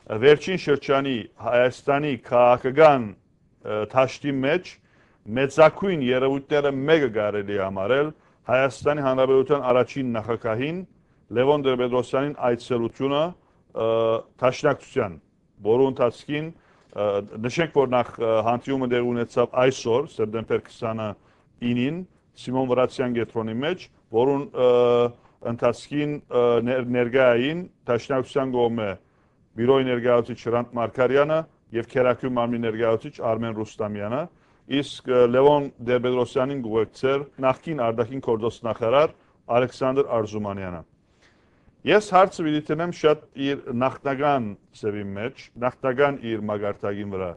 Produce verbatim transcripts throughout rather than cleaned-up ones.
Վերջին շրջանի Հայաստանի քաղաքական, ը, դաշտի մէջ մեծագոյն երեւոյթները մէկը կարելի է համարել Հայաստանի Հանրապետության առաջին նախագահին Լեւոն Տեր-Պետրոսյանին այցելութիւնը, ը, Դաշնակցութեան, որու ընթացքին, ը, նշենք, որ նախ, ը, հանդիումը տեղի ունեցաւ այսօր, սեպտեմբեր քսանինին, Սիմոն Վրացեան կեդրոնի մէջ, որուն, ը, ընթացքին, ը, ներ-, ներկայ էին Դաշնակցութեան կողմէ Բիւրոյի ներկայացուցիչ Հրանդ Մարգարեանը եւ Քերակու մարմնի ներկայացուցիչ Արմէն Ռուստամեանը, իսկ, ը, Լեւոն Տեր-Պետրոսյանին կ'ուղեկցէր նախկին արտաքին գործոց նախարար Ալեքսանդր Արզումանեանը։ Ես հարցը պիտի դնեմ շատ իր նախնական ձեւին մէջ, նախնական իր մակարդակին վրայ։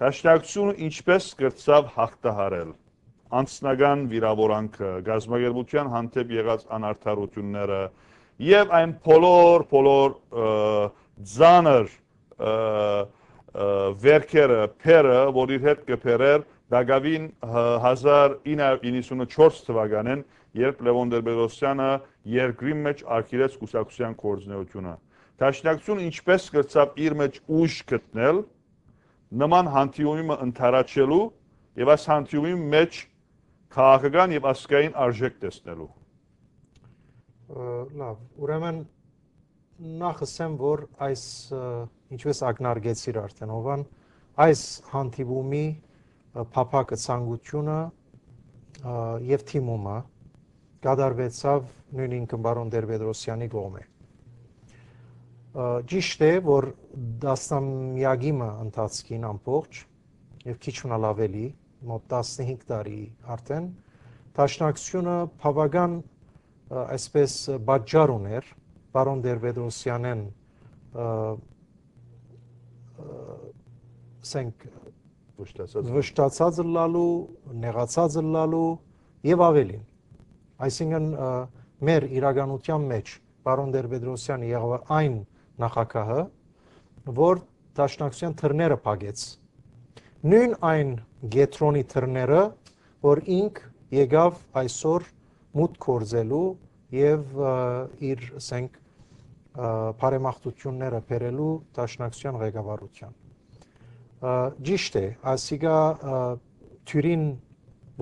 Դաշնակցութիւնը ինչպէս կրցաւ յաղթահարել անձնական վիրաւորանքը, կազմակերպութեան հանդէպ եղած անարդարութիւնները եւ այն բոլոր, բոլոր, ը, ծանր, ը, ը, վերքերը, բեռը, որ իր հետ կը բերէր տակաւին, ը, հազար ինը հարիւր իննսունչորս թուականէն, երբ Լեւոն Տեր-Պետրոսյանը երկրին մէջ արգիլեց կուսակցութեան գործունեութիւնը։ Դաշնակցութիւնը ինչպէս կրցաւ իր մէջ ուժ գտնել նման հանդիումի մը ընդառաջելու եւ այս հանդիումի մէջ քաղաքական եւ ազգային արժէք տեսնելու։ Ը, լավ, ուրեմն նախ ըսեմ, որ այս, ը, ինչպես ակնարկեցիր արդեն, Հովան, այս հանդիպումի, ը, փափաքը, ցանկությունը, ը, եւ թիմումը կատարուեցաւ նոյն ինքը պարոն Տեր-Պետրոսյանի կողմէ։ Ը, ճիշդ է, որ տասնամեակի մը ընթացքին ամբողջ եւ քիչ մնալ ավելի, մոտ տասնհինգ տարի արդեն, Դաշնակցութիւնը բաւական, ը, այսպես, ը, պատճառ ունէր պարոն Տեր-Պետրոսյանեն, ը, ը, ասենք, Վշտացած։ վշտացած ըլլալու, նեղացած ըլլալու եւ ավելին։ Այսինքն, ը, մեր իրականութեան մէջ պարոն Տեր-Պետրոսյանը եղաւ այն նախագահը, որ Դաշնակցութեան դռները փակեց։ Նոյն այն կեդրոնի դռները, որ ինք եկաւ այսօր մուտք գործելու եւ, ը, իր, ասենք, ը, բարեմաղթութիւնները բերելու Դաշնակցութեան ղեկավարութեան։ Ը, ճիշդ է, ասիկա, ը, դիւրին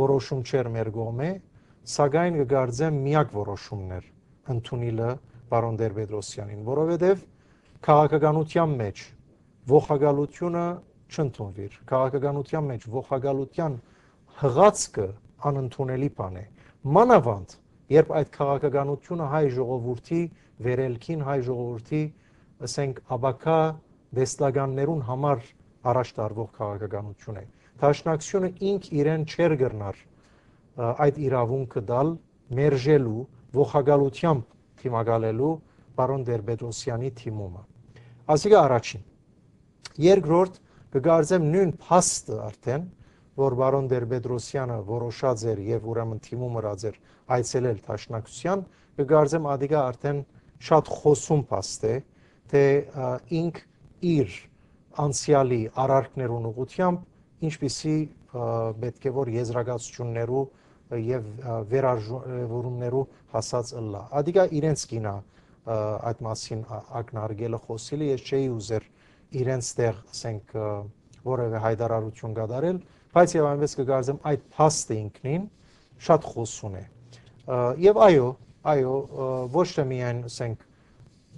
որոշում չէր մեր կողմէ, սակայն կը կարծեմ միակ որոշումն էր ընդունիլը պարոն Տեր-Պետրոսյանին, որովհետեւ քաղաքականութեան մէջ ողակալությունը չընդունուիր։ Քաղաքականութեան մէջ ողակալութեան յղացքը անընդունելի բան է։ Մանաւանդ, երբ այդ քաղաքականությունը հայ ժողովուրդի վերելքին, հայ ժողովուրդի, ասենք, ապագայ տեսլականներուն համար առաջ տարուող քաղաքականություն է։ Դաշնակցութիւնը ինք իրեն չէր կրնար, ը, այդ իրաւունքը տալ, մերժելու, ողակալութեամբ դիմակալելու պարոն Տեր-Պետրոսյանի դիմումը։ Ասիկա առաջին։ Երկրորդ, կը կարծեմ նոյն փաստը արդեն, որ պարոն Տեր-Պետրոսյանը որոշած էր եւ ուրեմն դիմում ըրած էր այցելել Դաշնակցութեան, կը կարծեմ ատիկա արդեն շատ խոցուն փաստ է, թէ, ա, ինք իր անցեալի արարքներուն ուղղութեամբ ինչպիսի, ա, պէտք է որ եզրակացութիւններու եւ, ա, վերարժեւորումներու հասած ըլլայ։ Ատիկա իրենց կինա, ա, այդ մասին, ա, ակնարկելը, խօսիլը, ես չէի ուզեր իրենց տեղ, ասենք, ը, որեւէ յայտարարութիւն կատարել, բայց եւ այնպես կը կարծեմ այդ փաստը ինքնին շատ խոցուն է։ Ը, եւ այո, այո, ը, ոչ թե միայն, ասենք,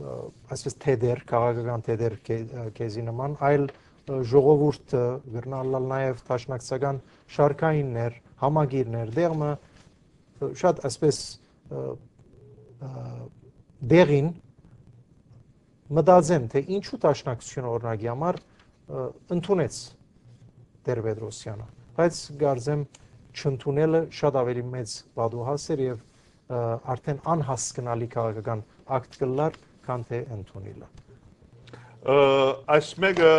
ը, այսպես թեթեր, քաղաքական թեթեր քե-, ը, քեզի նման, այլ, ը, ժողովուրդը կրնա ըլլալ նաեւ դաշնակցական շարքայիններ, համակիրներ, դեղմը, ը, շատ այսպես, ը, ը, դեղին մտածեմ, թէ ինչու Դաշնակցութիւնը, օրինակի համար, ը, ընդունեց Տեր-Պետրոսյանը, բայց կարծեմ չընդունելը շատ ավելի մեծ պատուհաս էր եւ, ը, արդեն անհասկնալի քաղաքական ակտ կ'ըլլար, քան թէ ընդունիլը։ Ը, այս մէկը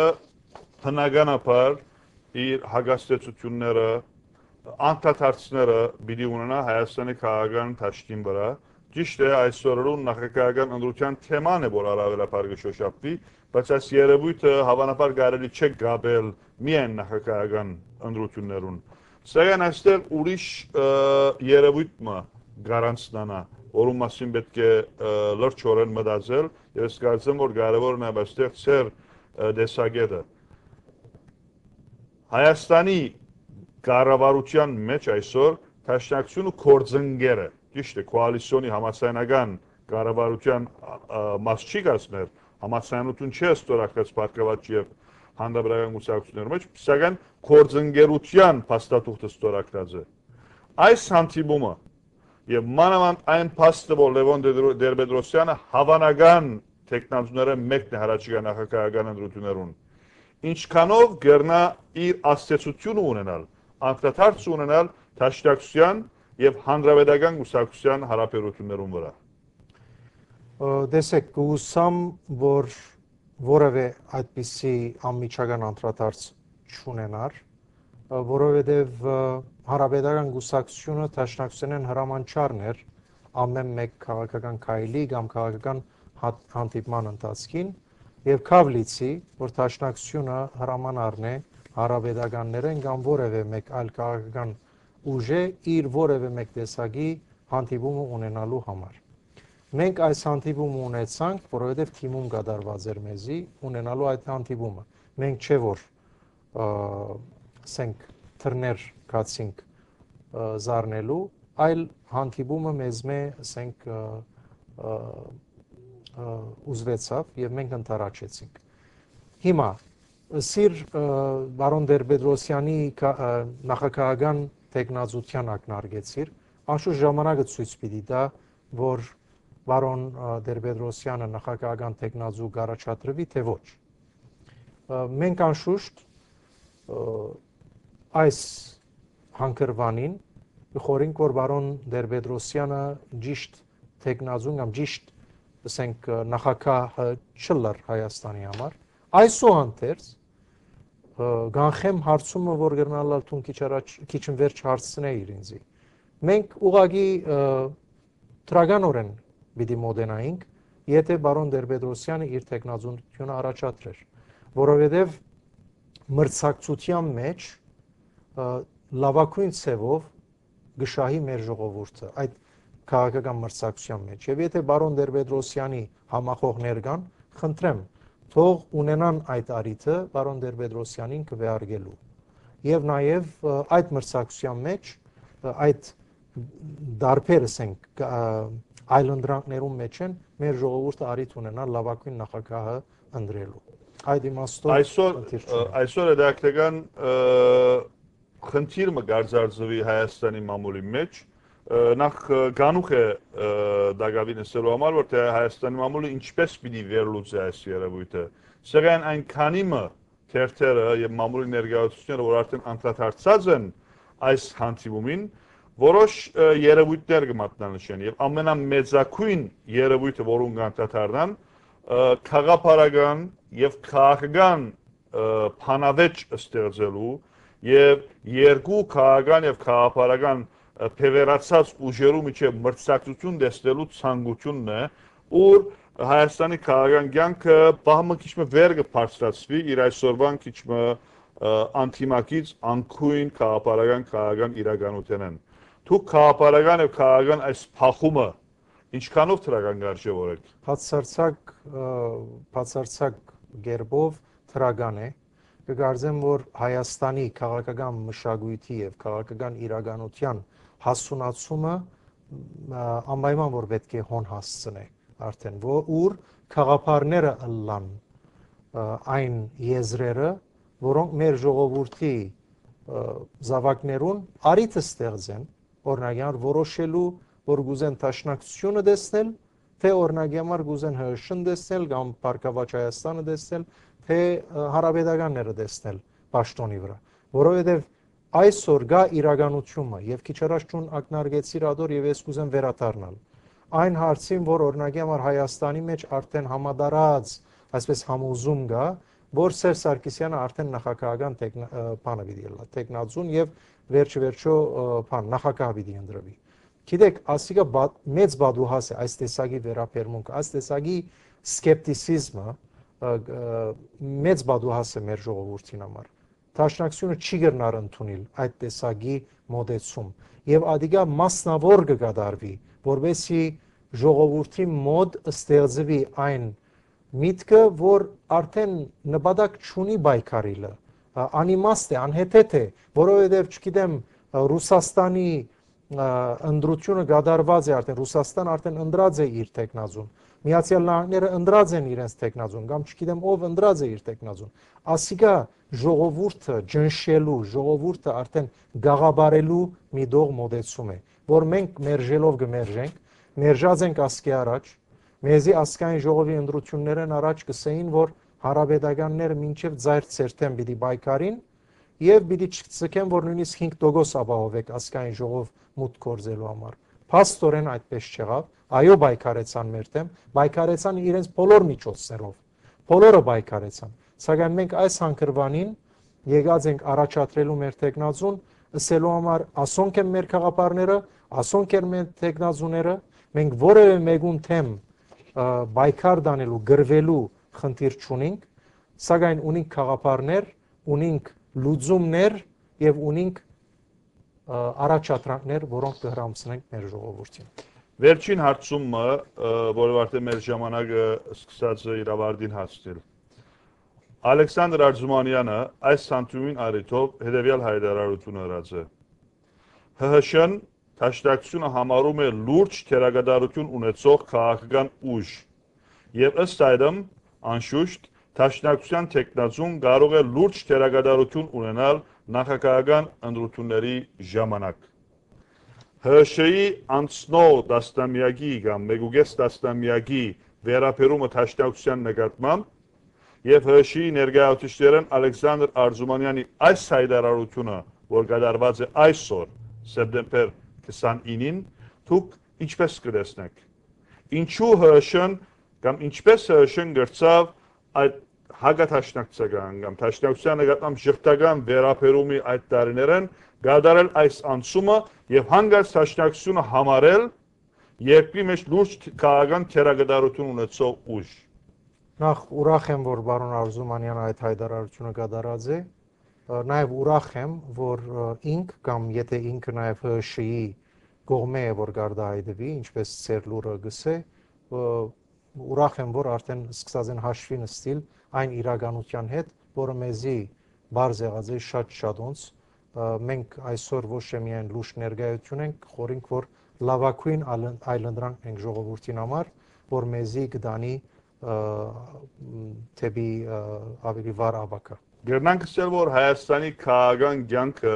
բնականաբար իր հակազդեցութիւնները, անդադարձները պիտի ունենայ Հայաստանի քաղաքական դաշտին վրայ։ Ճիշդ է, այսօրերուն նախագահական ընտրութեան թեման է, որ առավելաբար կը շոշափուի, բայց այս երեւոյթը հաւանաբար կարելի չէ կապել միայն նախագահական ընտրութիւններուն։ Սակայն այստեղ ուրիշ, ը, երեւոյթ մը կառանձնանայ, որուն մասին պէտք է, ը, լրջորեն մտածել, եւ ես կարծեմ, որ կարեւոր է նաեւ այստեղ ձեր ը, տեսակետը։ Հայաստանի կառավարութեան մէջ այսօր Դաշնակցութիւնը գործընկեր է, ճիշդ է, կոալիցիոնի համաձայնական կառավարութեան, ա, ա, մաս չի կազմեր, համաձայնութիւն չէ ստորագրած Բարգաւաճ եւ Հանրապետական կուսակցութիւններու մէջ, սակայն գործընկերութեան փաստաթուղթը ստորագրած է։ Այս հանդիպումը եւ մանաւանդ այն փաստը, որ Լեւոն Տեր-, Տեր-Պետրոսյանը հաւանական թեկնածուներէն մէկն է յառաջիկայ նախագահական ընտրութիւններուն, ինչքանով կրնայ իր ազդեցութիւնը ունենալ, անդրադարձ ունենալ Դաշնակցութեան եւ Հանրապետական կուսակցութեան յարաբերութիւններուն վրայ։ Ը, տեսէք, կ'ուսամ, որ որեւէ այդպիսի անմիջական անդրադարձ չունենար, ը, որովհետեւ, ը, Հանրապետական կուսակցութիւնը Դաշնակցութենէն հրամանչարն էր ամէն մէկ քաղաքական քայլի կամ քաղաքական հատ-, հանդիպման ընթացքին, եւ քաւ լիցի, որ Դաշնակցութիւնը հրաման առնէ հանրապետականներէն կամ որեւէ մէկ այլ քաղաքական ուժէ իր որեւէ մէկ տեսակի հանդիպումը ունենալու համար։ Մենք այս հանդիպումը ունեցանք, որովհետեւ թիմում կատարուած էր մեզի ունենալու այդ հանդիպումը։ Մենք չէ որ, ը, ասենք, թռներ գացինք, ը, զարնելու, այլ հանդիպումը մեզմէ, ասենք, ը, ը, ը, ուզուեցաւ եւ մենք ընդառաջեցինք։ Հիմա, սիր, ը, պարոն Տեր-Պետրոսյանի կա-, ը, նախագահական թեկնածութեան ակնարկեցիր, անշուշտ ժամանակը ցոյց պիտի տայ, որ պարոն, ը, Տեր-Պետրոսյանը նախագահական թեկնածու կ'առաջադրուի, թէ ոչ։ Ը, մենք անշուշտ, ը, այս հանգրուանին կը խորհենք, որ պարոն Տեր-Պետրոսյանը ճիշտ թեկնածուն կամ ճիշտ, ասենք, ը, նախագահը չըլլար Հայաստանի համար։ Այսուհանդերձ, ը, կանխեմ հարցումը, որ կրնալալ դուն քիչ առաջ, քիչ ըն վերջ հարցնէիր ինձի։ Մենք ուղղակի, ը, դրականօրէն պիտի մոտենայինք, եթէ պարոն Տեր-Պետրոսյանը իր թեկնածունութիւնը առաջադրեր, որովհետեւ մրցակցութեան մէջ, ը, լաւագոյն ձեւով կը շահի մեր ժողովուրդը այդ քաղաքական մրցակցութեան մէջ։ Եւ եթէ պարոն Տեր-Պետրոսյանի համախոհներ կան, խնդրեմ, թող ունենան այդ առիթը պարոն Տեր-Պետրոսյանին քուէարկելու։ Եւ նաեւ, ը, այդ մրցակցութեան մէջ, ը, այդ դարբեր, ասենք, կա-, այլընտրանքներուն մէջ են, մեր ժողովուրդը առիթ ունենա լաւագոյն նախագահը ընտրելու։ Այդ իմաստով Այսօր, խնդիր ը, չունեմ։ Այսօր հետաքրքրական, ը, խնդիր մը կարձարծուի Հայաստանի մամուլի մէջ, ը, նախ, ը, գանուխ է, ը, դակաւին ըսելու համար, որ թէ Հայաստանի մամուլը ինչպես պիտի վերլուծի այս երևոյթը։ Սակայն այն քանի մը թերթերը եւ մամուլի ներկայացուցիչները, որ արդեն անդրադարձած են այս հանդիպումին, որոշ, ը, երևույթներ կը մատնանշեն եւ ամենամեծագոյն երևույթը, որուն կանդրադառնան, ը, գաղափարական եւ քաղաքական, ը, բանավեճ ստեղծելու եւ երկու քաղաքական եւ գաղափարական, ը, բեւեռացած ուժերու միջեւ մրցակցութիւն տեսնելու ցանկութիւնն է, ուր Հայաստանի քաղաքական կյանքը պահ մը քիչ մը վեր կը բարձրացուի իր այսօրվան քիչ մը, ը, անդիմակից անկոյն գաղափարական քաղաքական իրականութենէն։ Դուք գաղափարական եւ քաղաքական այս փախումը ինչքանով դրական կարժեւորեք։ Բացարձակ, ը, բացարձակ կերպով դրական է։ Կկարծեմ, որ Հայաստանի քաղաքական մշակոյթի եւ քաղաքական իրականութեան հասունացումը, ը, անպայման որ պէտք է հոն հասցնէ արդեն, ո-, ուր գաղափարները ըլլան, ը, այն եզրերը, որոնք մեր ժողովուրդի, ը, զաւակներուն առիթը ստեղծեն, օրինակ, ան որոշելու, որ կուզեն Դաշնակցութիւնը տեսնել, թէ, օրինակի համար, կուզեն Հ Շ Ն տեսնել կամ Բարգաւաճ Հայաստանը տեսնել, թէ, ը, Հանրապետականները տեսնել պաշտոնի վրայ, որովհետեւ այսօր կայ իրականութիւնը, եւ քիչ առաջ դուն ակնարկեցիր ատոր, եւ ես կուզեմ վերադառնալ այն հարցին, որ, օրինակի համար, Հայաստանի մէջ արդեն համատարած, այսպես, համոզում կայ, որ Սերժ Սարգսեանը արդեն նախագահական տեխնա-, ը, բանը պիտի ըլլայ, տեխնազուն, եւ վերջը վերջո, ը, բան, նախագահ պիտի ընտրվի։ Գիտեք, ասիկա բա-, մեծ պատուհաս է այս տեսակի վերաբերմունքը, այս տեսակի սկեպտիսիզմը, ը, ը, մեծ պատուհաս է մեր ժողովուրդին համար։ Դաշնակցությունը չի կրնար ընդունիլ այդ տեսակի մոտեցում, եւ ադիկա մասնավոր կը կատարուի, որպեսզի ժողովուրդի մոտ ստեղծուի այն միտքը, որ արդեն նպատակ չունի պայքարիլը, ա, անիմաստ է, անհեթեթ է, որովհետեւ, չգիտեմ, ա, Ռուսաստանի, ա, ընտրությունը կատարուած է արդեն, Ռուսաստան արդեն ընտրած է իր թեկնածուն, Միացյալ Նահանգները ընտրած են իրենց թեկնածուն, կամ չգիտեմ ով ընտրած է իր թեկնածուն։ Ասիկա ժողովուրդը ճնշելու, ժողովուրդը արդեն գաղաբարելու մի դող մոտեցում է, որ մենք մերժելով կը մերժենք, մերժած ենք ասկէ առաջ, մեզի ազգային ժողովի ընտրութիւններէն առաջ կ'ըսէին, որ հանրապետականները մինչեւ ձայր ցերթեն պիտի պայքարին եւ պիտի չցկեն, որ նոյնիսկ հինգ տոկոս ապահովէք ազգային ժողով մուտք գործելու համար։ Փաստօրէն այդպես չեղաւ, այո, պայքարեցան մեր դէմ, պայքարեցան իրենց բոլոր միջոցներով, բոլորը պայքարեցան, սակայն մենք այս հանգրուանին եկած ենք առաջադրելու մեր թեկնածուն, ըսելու համար՝ ասոնք են մեր գաղափարները, ասոնք են մեր թեկնածուները, մենք որեւէ մէկուն դէմ, ը, պայքար տանելու, կռուելու խնդիր չունինք, սակայն ունինք գաղափարներ, ունինք լուծումներ եւ ունինք, ը, առաջադրանքներ, որոնք կը հրամցնենք մեր ժողովուրդին։ Վերջին հարցումը, ը, որովհետեւ մեր ժամանակը սկսած է իր ավարտին հասնել։ Ալեքսանդր Արզումանյանը այս հանդիպումին առիթով հետեւեալ յայտարարութիւն ըրած է. Հ Հ Շ-ն Դաշնակցութիւնը համարում է լուրջ դերակատարութիւն ունեցող քաղաքական ուժ, եւ ըստ այդմ, անշուշտ, Դաշնակցութեան թեկնածուն կարող է լուրջ դերակատարութիւն ունենալ նախագահական ընտրութիւնների ժամանակ։ Հ Շ-ի անցնող տասնամեակի կամ մեկուկես տասնամեակի վերաբերումը Դաշնակցութեան նկատմամբ եւ Հ Շ-ի ներկայացուցիչներէն Ալեքսանդր Արզումանեանի այս յայտարարութիւնը, որ կատարուած է այսօր, սեպտեմբեր քսանինին, դուք ինչպէս կը տեսնէք։ Ինչու Հ Շ-ն կամ ինչպէս Հ Շ-ն կրցաւ այդ հակադաշնակցական կամ դաշնակցության նկատմամբ ժխտական վերաբերումի այդ տարիներէն կատարել այս անցումը եւ հանկարծ դաշնակցությունը համարել երկրի մեջ լուրջ քաղաքական դերակատարութիւն ունեցող ուժ։ Նախ ուրախ եմ, որ պարոն Արզումանեանը այդ յայտարարութիւնը կատարած է։ Ը, նաեւ ուրախ եմ, որ, ը, ինք կամ եթե ինքը նաեւ Հ Շ-ի կողմէ է, որ կարտահայտուի, ինչպէս ձեր լուրը կ'ըսէ, ը, ուրախ եմ, որ արդեն սկսած են հաշվի նստիլ այն իրականութեան հետ, որը մեզի պարզ եղած է շատ շատոնց։ Ը, մենք այսօր ոչ թե միայն լուրջ ներկայություն ենք, խորհենք, որ լաւագոյն այլ-, այլընտրանք ենք ժողովուրդին համար, որ մեզի կտանի, ը, դէպի, ը, ավելի վառ ապագայ։ Կրնանք ըսել, որ Հայաստանի քաղաքական կեանքը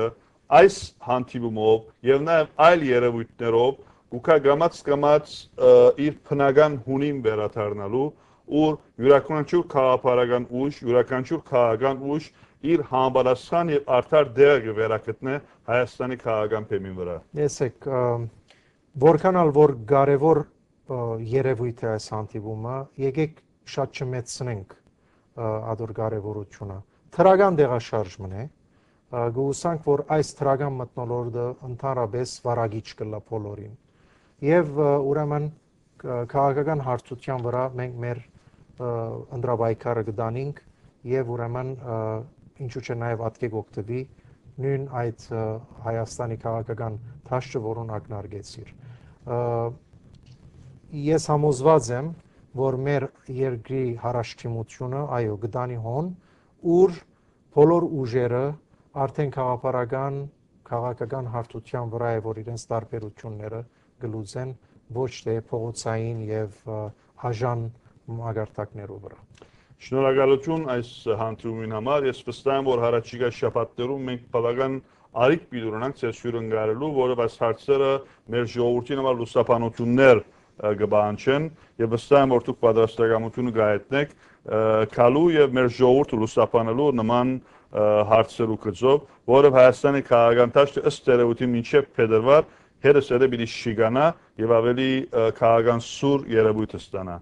այս հանդիպումով եւ նաեւ այլ երեւոյթներով կու գայ կամաց-կամաց, ը, իր բնական հունին վերադառնալու, ուր իւրաքանչիւր գաղափարական ուժ, իւրաքանչիւր քաղաքական ուժ իր համապատասխան եւ արդար տեղը կը վերագտնէ Հայաստանի քաղաքական բեմին վրայ։ Տեսեք, ը, որքան ալ որ կարեւոր, ը, երեւոյթ է այս հանդիպումը, եկեք շատ չմեծցնենք, ը, ադոր կարեւորութիւնը։ Դրական տեղաշարժ մըն է, ը, կը ուսանք, որ այս դրական մթնոլորտը ընդհանրապես վարակիչ կ'ըլլայ բոլորին։ Եւ, ը, ուրեմն, ք-, քաղաքական հարթութեան վրայ մենք մեր, ը, ընտրապայքարը կտանինք եւ ուրեմն, ը, ինչու՞ չէ նաեւ ատկէ կ'օգտուի նոյն այդ, ը, Հայաստանի քաղաքական դաշտը, որուն ակնարկեցիր։ Ը, ես համոզված եմ, որ մեր երկրի յառաջդիմութիւնը, այո, կտանի հոն, ուր բոլոր ուժերը արդեն գաղափարական, քաղաքական հարթութեան վրայ է, որ իրենց տարբերութիւնները կը լուծեն, ոչ թե փողոցային եւ, ը, աժան մակարդակներու վրայ։ Շնորհակալութիւն այս հանդիպումին համար։ Ես վստահ եմ, որ յառաջիկայ շաբաթներուն մենք բաւական արիք պիտի ունենանք ձեզ հիւրընկալելու, որովհետեւ այս հարցերը մեր ժողովրդին համար լուսաբանութիւններ, ը, կը պահանջեն, եւ վստահ եմ, որ դուք պատրաստակամութիւնը կհայտնեք, ը, գալու եւ մեր ժողովուրդը լուսաբանելու նման, ը, հարցերու գծով, որովհետեւ Հայաստանի քաղաքական դաշտը ըստ երեւոյթին մինչեւ փետրվար հետզհետե պիտի շիկանայ եւ ավելի, ը, քաղաքական սուր երեւոյթ ստանայ։